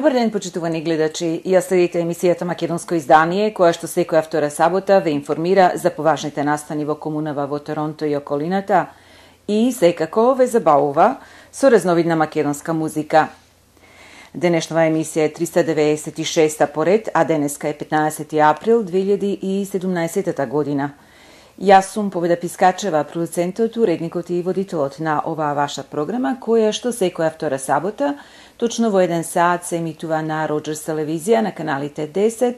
Добар ден, почитувани гледачи. Ја следите емисијата Македонско издание, која што секоја втора сабота ве информира за поважните настани во комунава во Торонто и околината и секако ве забавува со разновидна македонска музика. Денешнава емисија е 396 поред, а денеска е 15 април 2017 година. Јас сум Победа Пискачева, продуцентот, уредникот и водителот на оваа ваша програма, која што секоја втора сабота, точно во 1 саат се емитува на Роџерс телевизија на каналите 10,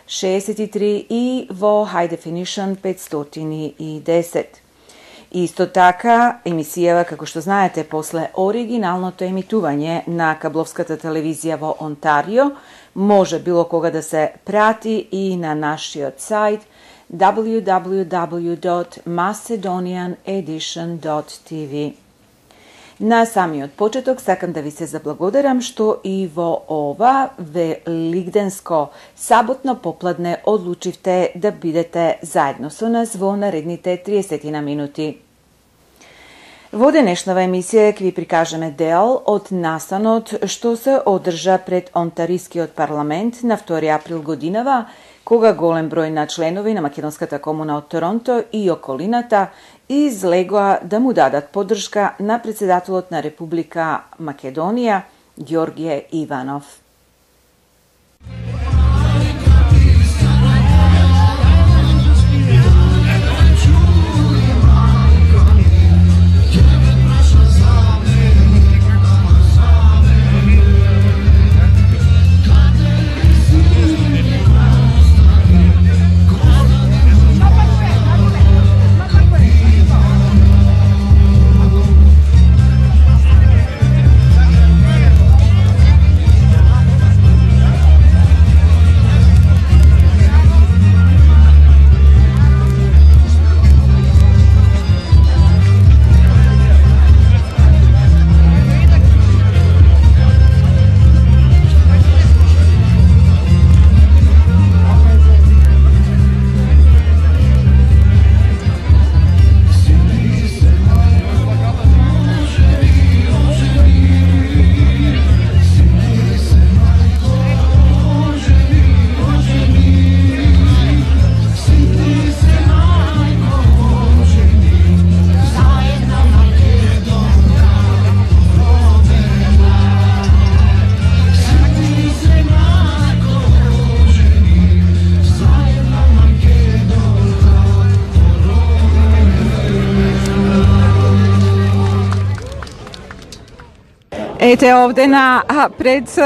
63 и во High Definition 510. Исто така, емисијава, како што знаете, после оригиналното емитување на кабловската телевизија во Онтарио, може било кога да се прати и на нашиот сајт www.macedonianedition.tv. На самиот почеток сакам да ви се заблагодарам што и во ова велигденско саботно попладне одлучивте да бидете заедно со нас во наредните 30 минути. Во денешнава емисија ќе ви прикажеме дел од настанот што се одржа пред Онтарискиот парламент на 2 април годинава, кога голем број на членови на македонската комуна од Торонто и околината излегоа да му дадат поддршка на председателот на Република Македонија Ѓорѓе Иванов. Ете овде пред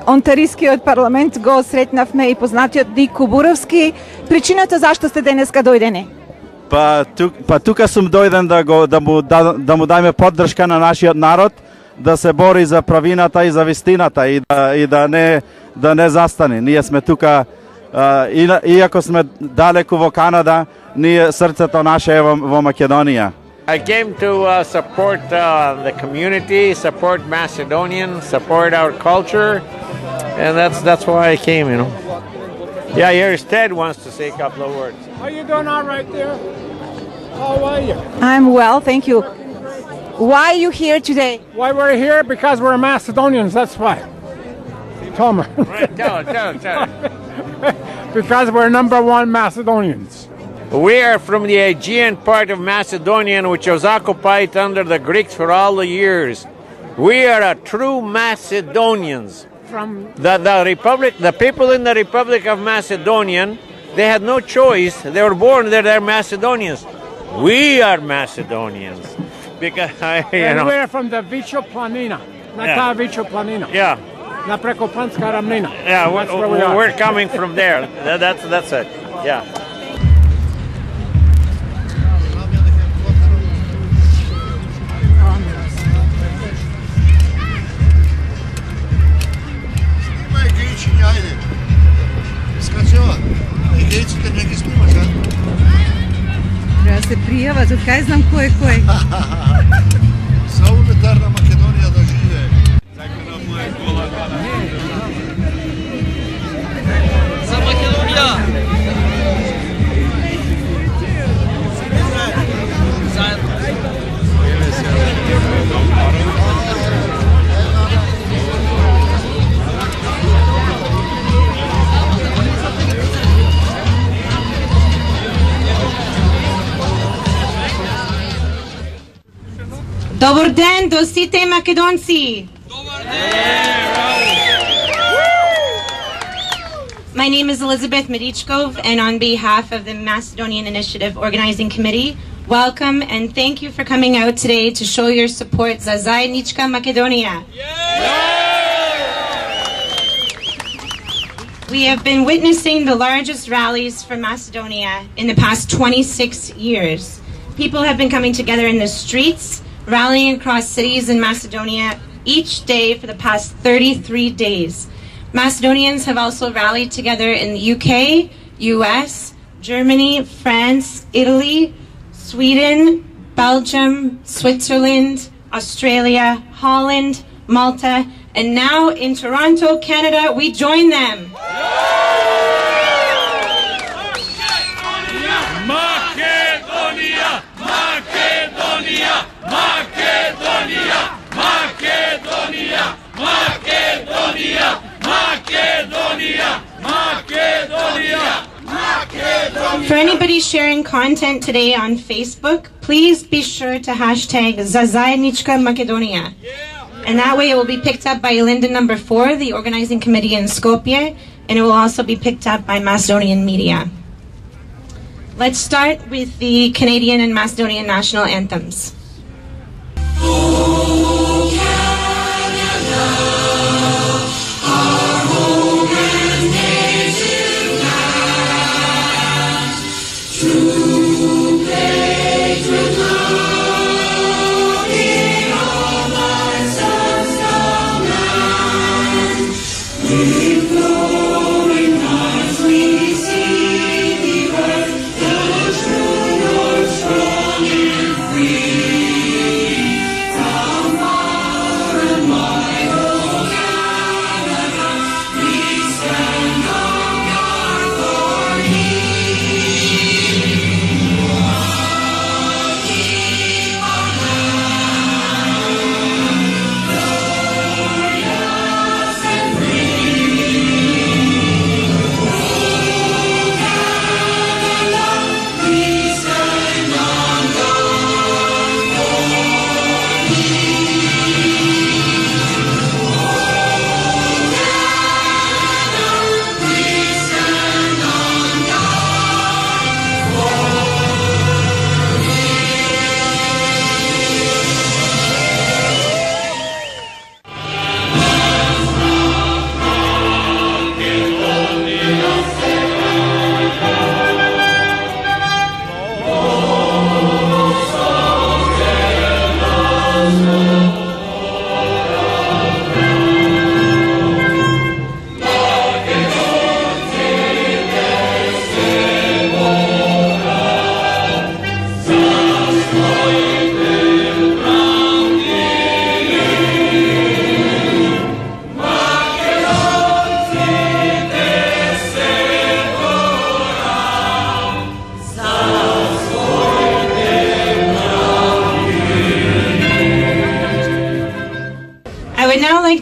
Онтарискиот парламент го сретнавме и познатиот Ник Кубуровски. Причината зашто сте денеска дојдени? Тука сум дојден да му дајме поддршка на нашиот народ, да се бори за правината и за вистината и да не застане. Ние сме тука, иако сме далеку во Канада, ние срцето наше е во Македонија. I came to support the community, support Macedonian, support our culture, and that's why I came, you know. Yeah, here's Ted wants to say a couple of words. How you doing all right there? How are you? I'm well, thank you. Why are you here today? Why we're here? Because we're Macedonians, that's why. Tell me. Right, tell it. Because we're #1 Macedonians. We are from the Aegean part of Macedonia, which was occupied under the Greeks for all the years. We are a true Macedonians. From The Republic, the people in the Republic of Macedonia, they had no choice. They were born there, they're Macedonians. We are Macedonians. Because, we're from the Vicho Planina. Ta Vicho Planina. Yeah. Na preko Planska ravnina. Yeah, That's where we are. we're coming from there. That's it. Yeah. Треба да се пријават, од кај знам кој е кој. Са унитарна Македонија да живее. За Македонија! Заедно. Добар ден до сите македонци! My name is Elizabeth Medichkov, and on behalf of the Macedonian Initiative Organizing Committee, welcome and thank you for coming out today to show your support za Zajednička Makedonia. We have been witnessing the largest rallies for Macedonia in the past 26 years. People have been coming together in the streets, rallying across cities in Macedonia each day for the past 33 days. Macedonians have also rallied together in the UK, US, Germany, France, Italy, Sweden, Belgium, Switzerland, Australia, Holland, Malta, and now in Toronto, Canada, we join them. Makedonia! Makedonia! Makedonia! Makedonia! Makedonia! Makedonia! Makedonia! Makedonia! For anybody sharing content today on Facebook, please be sure to hashtag Zajednička Makedonia. And that way it will be picked up by Linda number 4, the organizing committee in Skopje, and it will also be picked up by Macedonian media. Let's start with the Canadian and Macedonian national anthems.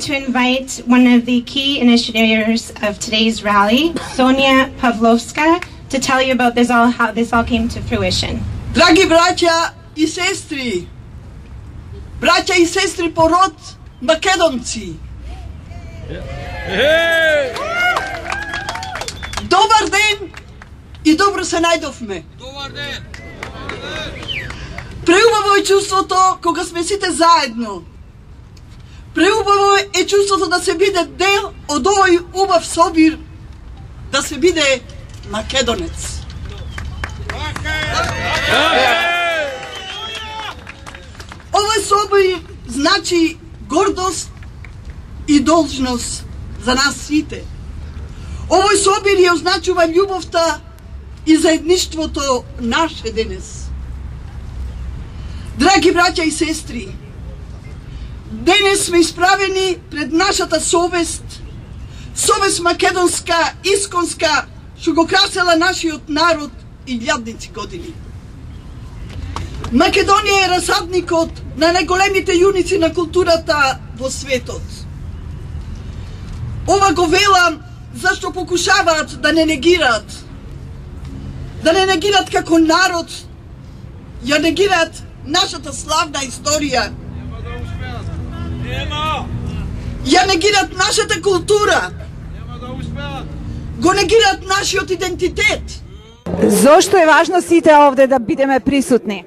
To invite one of the key initiators of today's rally, Sonia Pavlovska, to tell you about this how this all came to fruition. Драги браќа и сестри, браќа и сестри по род македонци. Добар ден и добро се најдовме. Добар ден. Преубаво е чувството кога сме сите заедно. Преубаво е чувството да се биде дел од овој убав собир, да се биде македонец. Овој собир значи гордост и должност за нас сите. Овој собир ја означува љубовта и заедништвото наше денес. Драги браќа и сестри, денес сме исправени пред нашата совест, совест македонска, исконска, што го красела нашиот народ и илјадници години. Македонија е расадникот на најголемите јуници на културата во светот. Ова го велам зашто покушаваат да не негираат. Да не негираат како народ, ја негираат нашата славна историја Ја негираат нашата култура. Го негираат нашиот идентитет. Зошто е важно сите овде да бидеме присутни?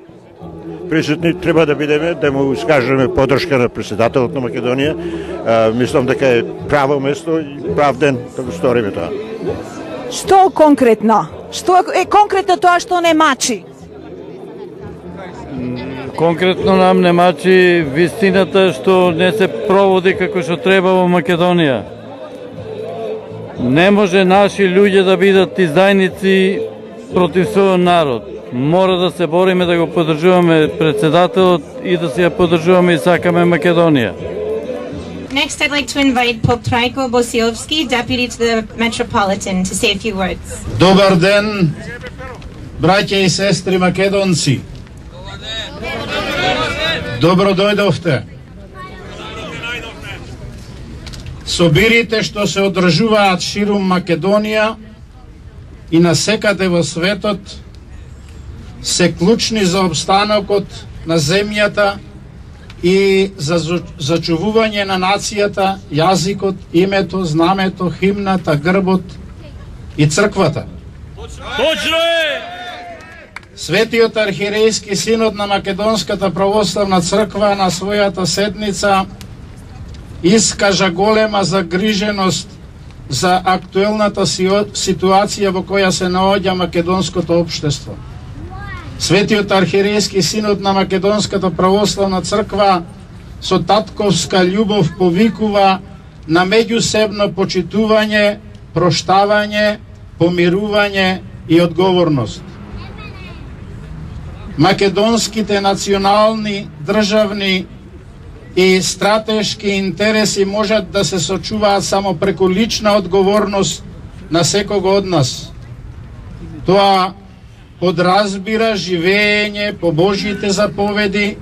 Присутни треба да бидеме, да му искажеме поддршка на председателот на Македонија. Мислам дека е право место и прав ден да го сториме тоа. Што конкретно? Што е конкретно тоа што не мачи? Конкретно нам не мачи вистината што не се проводи како што треба во Македонија. Не може наши луѓе да бидат издајници против својот народ. Мора да се бориме да го поддржуваме председателот и да се ја поддржуваме и сакаме Македонија. Next, I'd like to invite Pope Trajko Bosilovski, Deputy to the Metropolitan, to say a few words. Добар ден, браќа и сестри македонци. Добро дојдовте. Собирите што се одржуваат ширум Македонија и насекаде во светот се клучни за обстанокот на земјата и за зачувување на нацијата, јазикот, името, знамето, химната, грбот и црквата. Точно е! Светиот архиерејски синод на Македонската православна црква на својата седница искажа голема загриженост за актуелната ситуација во која се наоѓа македонското општество. Светиот архиерејски синод на Македонската православна црква со татковска љубов повикува на меѓусебно почитување, проштавање, помирување и одговорност. Македонските национални, државни и стратешки интереси можат да се сочуваат само преку лична одговорност на секого од нас. Тоа подразбира живење по Божјите заповеди,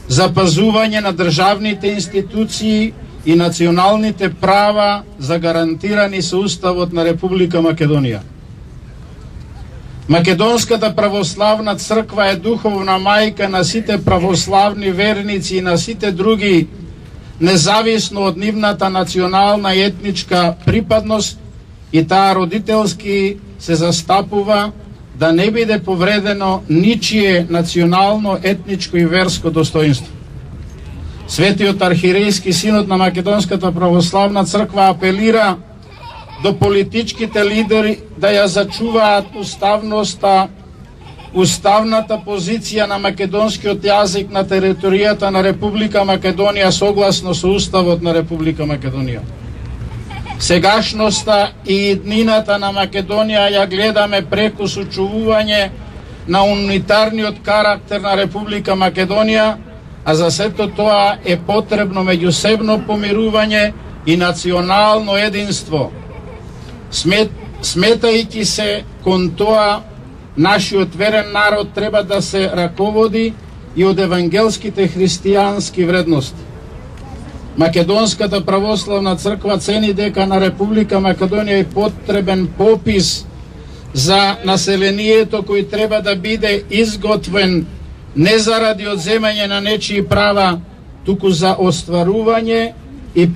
запазување на државните институции и националните права загарантирани со Уставот на Република Македонија. Македонската православна црква е духовна мајка на сите православни верници и на сите други, независно од нивната национална и етничка припадност, и таа родителски се застапува да не биде повредено ничие национално, етничко и верско достоинство. Светиот архиерејски синод на Македонската православна црква апелира до политичките лидери да ја зачуваат уставноста, уставната позиција на македонскиот јазик на територијата на Република Македонија согласно со Уставот на Република Македонија. Сегашноста и иднината на Македонија ја гледаме преку сочувување на унитарниот карактер на Република Македонија, а за сето тоа е потребно меѓусебно помирување и национално единство. Сметајќи се кон тоа, нашиот верен народ треба да се раководи и од евангелските христијански вредности. Македонската православна црква цени дека на Република Македонија е потребен попис за населението кој треба да биде изготвен не заради одземање на нечии права, туку за остварување и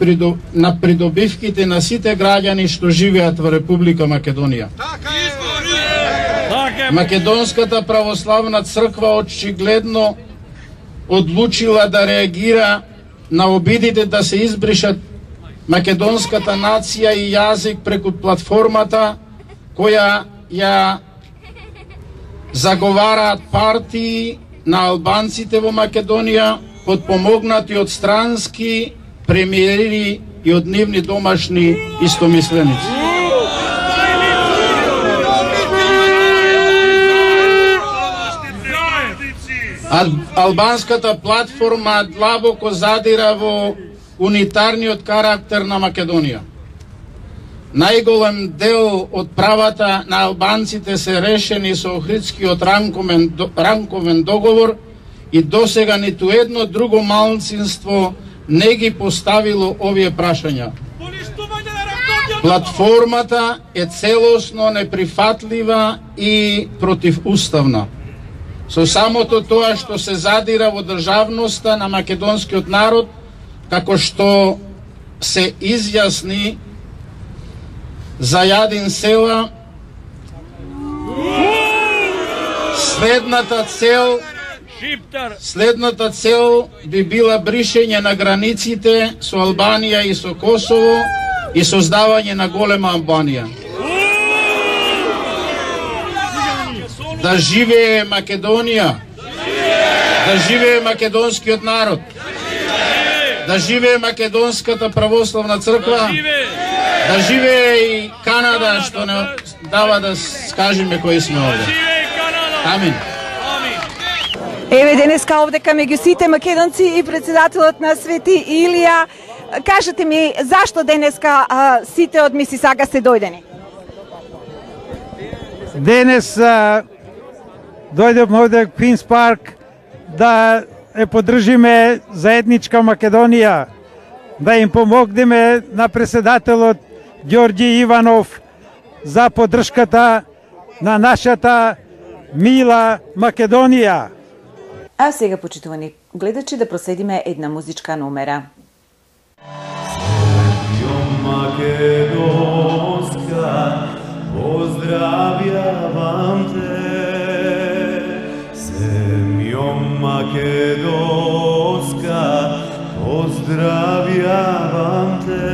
на придобивките на сите граѓани што живеат во Република Македонија. Македонската православна црква очигледно одлучила да реагира на обидите да се избришат македонската нација и јазик преку платформата која ја заговараат партии на албанците во Македонија, подпомогнати од странски премиери и од нивни домашни истомисленици. Албанската платформа длабоко задира во унитарниот карактер на Македонија. Најголем дел од правата на албанците се решени со Охридскиот ранковен договор и досега ниту едно друго малцинство не ги поставило овие прашања. Платформата е целосно неприфатлива и противуставна. Со самото тоа што се задира во државноста на македонскиот народ, како што се изјасни за Јадин села, следната цел би била бришење на границите со Албанија и со Косово и создавање на голема Албанија. Да живее Македонија, да живее македонскиот народ, да живее Македонската православна црква, да живее и Канада, што не дава да скажеме кои сме овде. Амин. Еве денеска овдека меѓу сите македонци и председателот на Свети Илија. Кажете ми, зашто денеска сите од Мисисага сте дојдени? Денес дојдевме овде во Квинс парк да ја поддржиме заедничка Македонија, да им помогнеме на председателот Ѓорѓи Иванов за поддршката на нашата мила Македонија. А сега, почитувани гледачи, да проследиме една музичка номера. Македонска, поздравјавам те, земјо Македонска, поздравјавам те,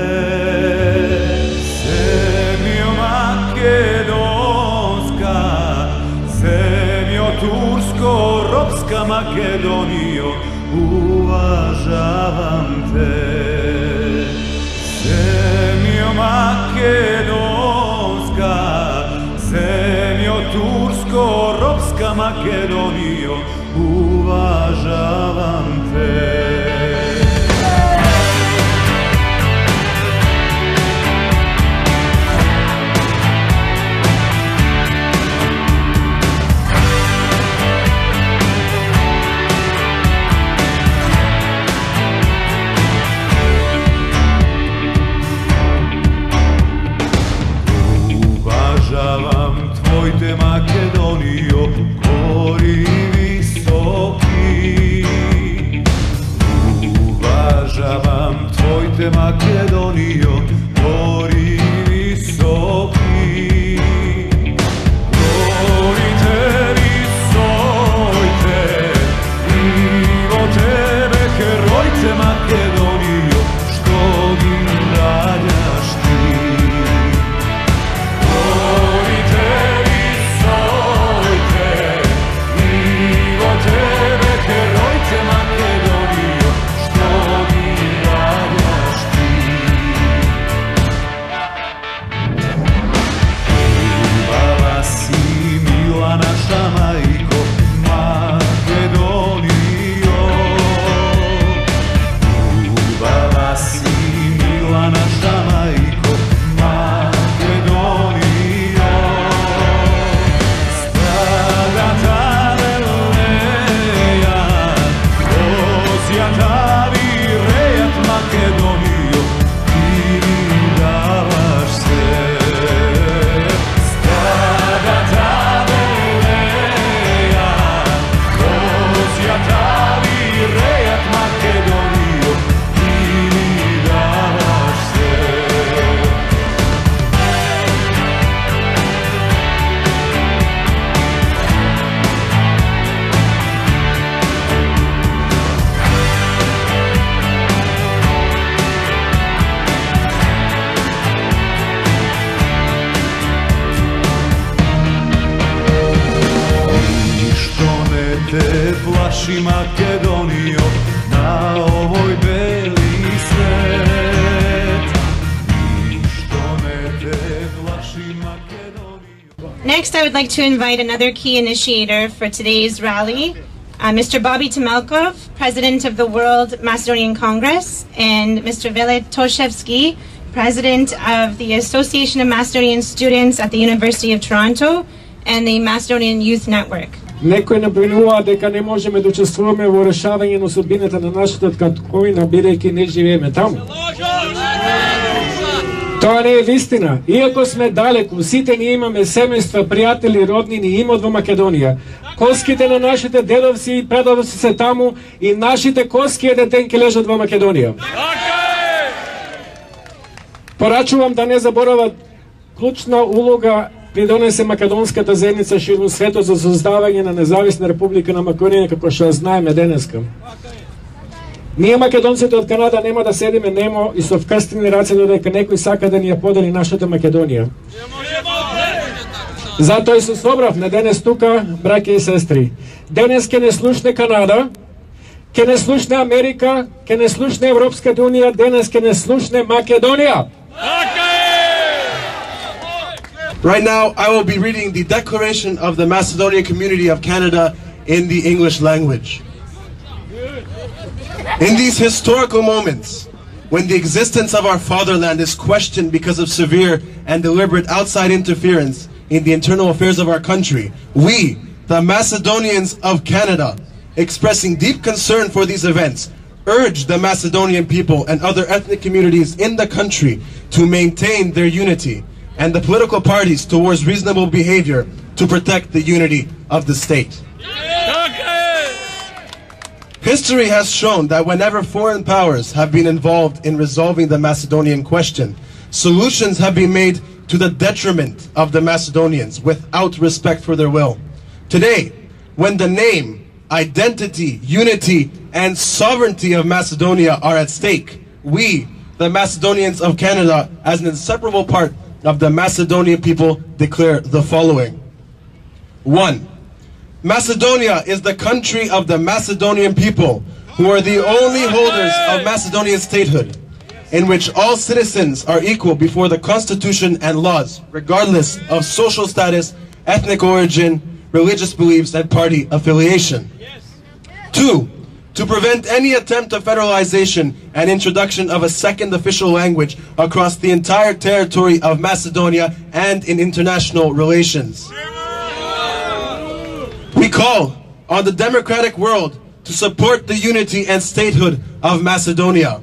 земјо Македонска, земјо турско-робска Македонијо, уважавам те. Земјо Македонска, земјо турско-робска Македонијо, уважавам те. Уважавам твоите Македонијо, гори високи. Уважавам твоите Македонијо, гори високи. Горите висоите, и во тебе херојце Македонијо, што ги раѓаш ти. Те плаши Македонијо на овој бели свет. Ништо не те плаши Македонијо. Next, I would like to invite another key initiator for today's rally, Mr. Bobby Temelkov, President of the World Macedonian Congress, and Mr. Velet Toshevsky, President of the Association of Macedonian Students at the University of Toronto and the Macedonian Youth Network. Некои набринуваат дека не можеме да учествуваме во решавање на судбината на нашата татковина, бидејќи не живееме таму. Тоа не е вистина. Иако сме далеку, сите ние имаме семејства, пријатели, роднини и имот во Македонија. Коските на нашите дедовци и предовци се таму и нашите коски еден ден ќе лежат во Македонија. Порачувам да не заборават клучна улога придонесе македонската заедница ширум светот за создавање на независна република на Македонија, како што знаеме денеска. Ние македонците од Канада нема да седиме немо и со вкрстени раце додека некој сака да ни ја подели нашата Македонија. Затоа и се собравме денес тука, браќа и сестри. Денес ќе не слушне Канада, ќе не слушне Америка, ќе не слушне Европската унија, денес ќе не слушне Македонија. Right now, I will be reading the Declaration of the Macedonian Community of Canada in the English language. In these historical moments, when the existence of our fatherland is questioned because of severe and deliberate outside interference in the internal affairs of our country, we, the Macedonians of Canada, expressing deep concern for these events, urge the Macedonian people and other ethnic communities in the country to maintain their unity and the political parties towards reasonable behavior to protect the unity of the state. History has shown that whenever foreign powers have been involved in resolving the Macedonian question, solutions have been made to the detriment of the Macedonians without respect for their will. Today, when the name, identity, unity, and sovereignty of Macedonia are at stake, we, the Macedonians of Canada, as an inseparable part of the Macedonian people, declare the following. 1. Macedonia is the country of the Macedonian people, who are the only holders of Macedonian statehood, in which all citizens are equal before the constitution and laws, regardless of social status, ethnic origin, religious beliefs, and party affiliation. 2. To prevent any attempt of federalization and introduction of a second official language across the entire territory of Macedonia and in international relations. We call on the democratic world to support the unity and statehood of Macedonia.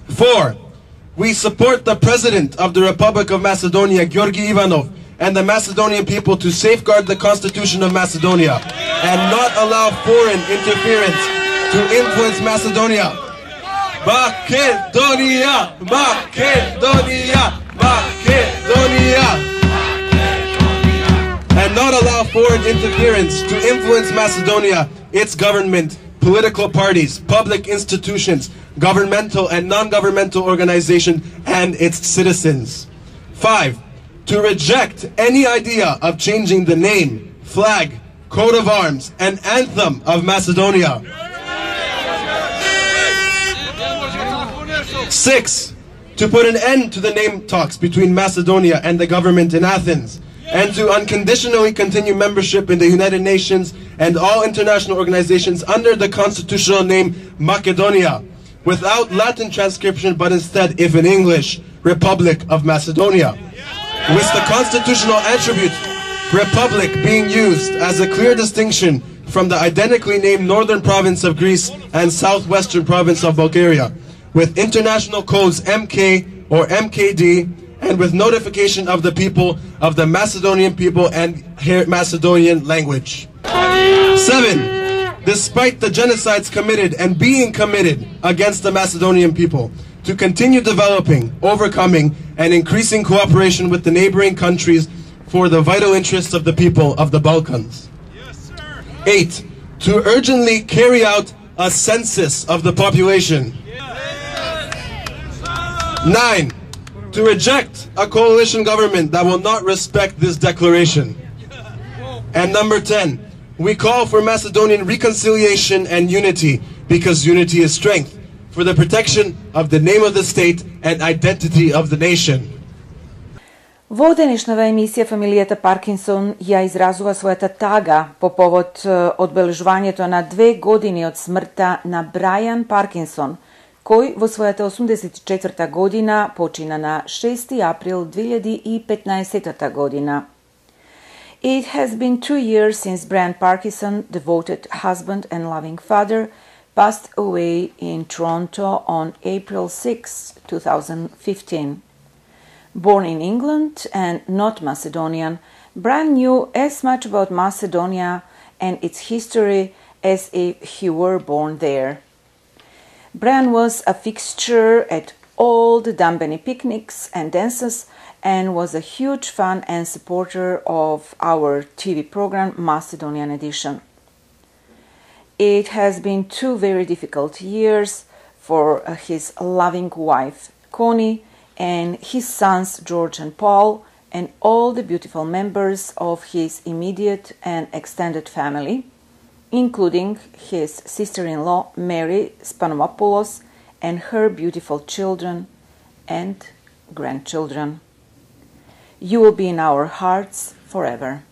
4. We support the President of the Republic of Macedonia, Georgi Ivanov, and the Macedonian people to safeguard the Constitution of Macedonia and not allow foreign interference to influence Macedonia. Macedonia! Macedonia! Macedonia! And not allow foreign interference to influence Macedonia, its government, political parties, public institutions, governmental and non-governmental organizations, and its citizens. 5. To reject any idea of changing the name, flag, coat of arms, and anthem of Macedonia. 6. To put an end to the name talks between Macedonia and the government in Athens, and to unconditionally continue membership in the United Nations and all international organizations under the constitutional name Macedonia, without Latin transcription but instead, if in English, Republic of Macedonia, with the constitutional attribute Republic being used as a clear distinction from the identically named Northern Province of Greece and Southwestern Province of Bulgaria, with international codes MK or MKD, and with notification of the people of the Macedonian people and Macedonian language. 7. Despite the genocides committed and being committed against the Macedonian people, to continue developing, overcoming, and increasing cooperation with the neighboring countries for the vital interests of the people of the Balkans. 8. To urgently carry out a census of the population. 9. To reject a coalition government that will not respect this declaration. And number 10, we call for Macedonian reconciliation and unity, because unity is strength, for the protection of the name of the state and identity of the nation. Во денешната емисија фамилијата Паркинсон ја изразува својата тага по повод одбележувањето на 2 години од смртта на Брајан Паркинсон, кој во својата 84 година почина на 6 април 2015 година. It has been 2 years since Brian Parkinson, devoted husband and loving father, passed away in Toronto on April 6, 2015. Born in England and not Macedonian, Brian knew as much about Macedonia and its history as if he were born there. Brian was a fixture at all the Dambeni picnics and dances and was a huge fan and supporter of our TV program Macedonian Edition. It has been 2 very difficult years for his loving wife, Connie, and his sons, George and Paul, and all the beautiful members of his immediate and extended family, including his sister-in-law, Mary Spanomopoulos, and her beautiful children and grandchildren. You will be in our hearts forever,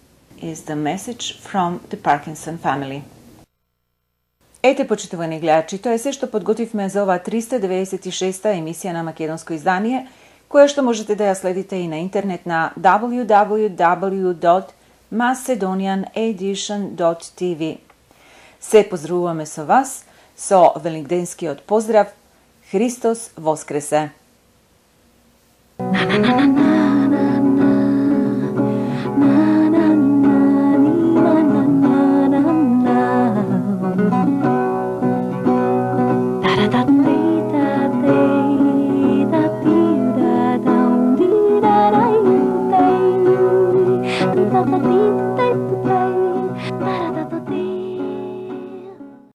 is the message from the Parkinson family. Ете, почитувани гледачи, тоа е се што подготвивме за оваа 396-та емисија на македонско издание, која што можете да ја следите и на интернет на www.macedonianedition.tv. Се поздравуваме со вас, со великденскиот поздрав Христос воскресе!